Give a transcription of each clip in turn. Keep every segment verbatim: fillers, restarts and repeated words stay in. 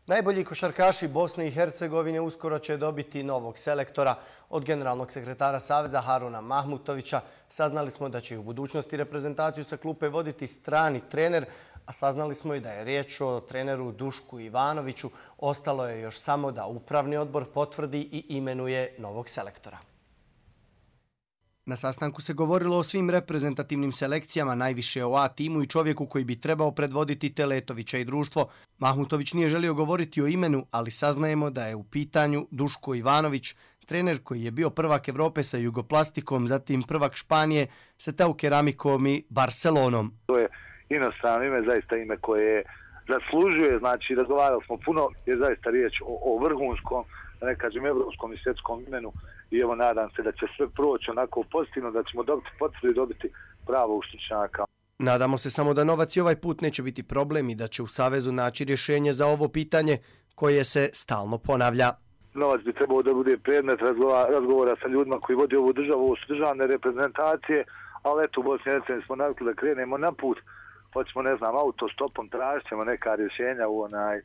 Najbolji košarkaši Bosne i Hercegovine uskoro će dobiti novog selektora. Od generalnog sekretara Saveza Haruna Mahmutovića saznali smo da će u budućnosti reprezentaciju sa klupe voditi strani trener, a saznali smo i da je riječ o treneru Dušku Ivanoviću. Ostalo je još samo da upravni odbor potvrdi i imenuje novog selektora. Na sastanku se govorilo o svim reprezentativnim selekcijama, najviše o A timu i čovjeku koji bi trebao predvoditi Teletovića i društvo. Mahmutović nije želio govoriti o imenu, ali saznajemo da je u pitanju Duško Ivanović, trener koji je bio prvak Evrope sa Jugoplastikom, zatim prvak Španije sa Tau Keramikom i Barcelonom. To je inostrano ime, zaista ime koje zaslužuje, znači razgovarali smo puno, je zaista riječ o, o vrhunskom, da ne kažem evropskom i svjetskom imenu, i evo nadam se da će sve proći onako pozitivno, da ćemo dobiti potvrdu i dobiti pravog stručnjaka. Nadamo se samo da novac i ovaj put neće biti problem i da će u Savezu naći rješenje za ovo pitanje koje se stalno ponavlja. Novac bi trebao da bude predmet razgovora sa ljudima koji vodi ovu državu, ovo su državne reprezentacije, ali eto u Bosni i Hercegovini smo navikli da krenemo na put, hoćemo, ne znam, autostopom, tražit ćemo neka rješenja u onaj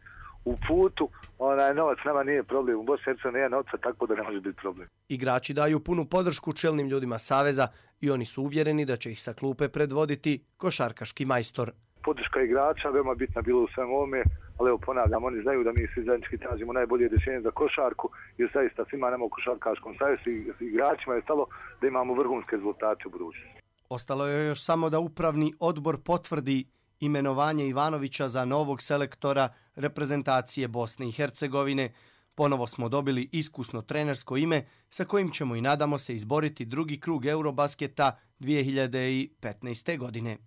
u putu, onaj novac nama nije problem, u Bosni i Hercegovini nije novca, tako da ne može biti problem. Igrači daju punu podršku čelnim ljudima Saveza i oni su uvjereni da će ih sa klupe predvoditi košarkaški majstor. Podrška igrača veoma bitna bila u svem ovome, ali evo ponavljam, oni znaju da mi svi zajednički tražimo najbolje rješenje za košarku, jer zaista svima nama u košarkaškom savezu i igračima je stalo da imamo vrhunske rezultate u budućnosti. Ostalo je još samo da upravni odbor potvrdi imenovanje Ivanovića za novog selektora reprezentacije Bosne i Hercegovine. Ponovo smo dobili iskusno trenersko ime sa kojim ćemo i nadamo se izboriti drugi krug Eurobasketa dvije hiljade petnaeste. godine.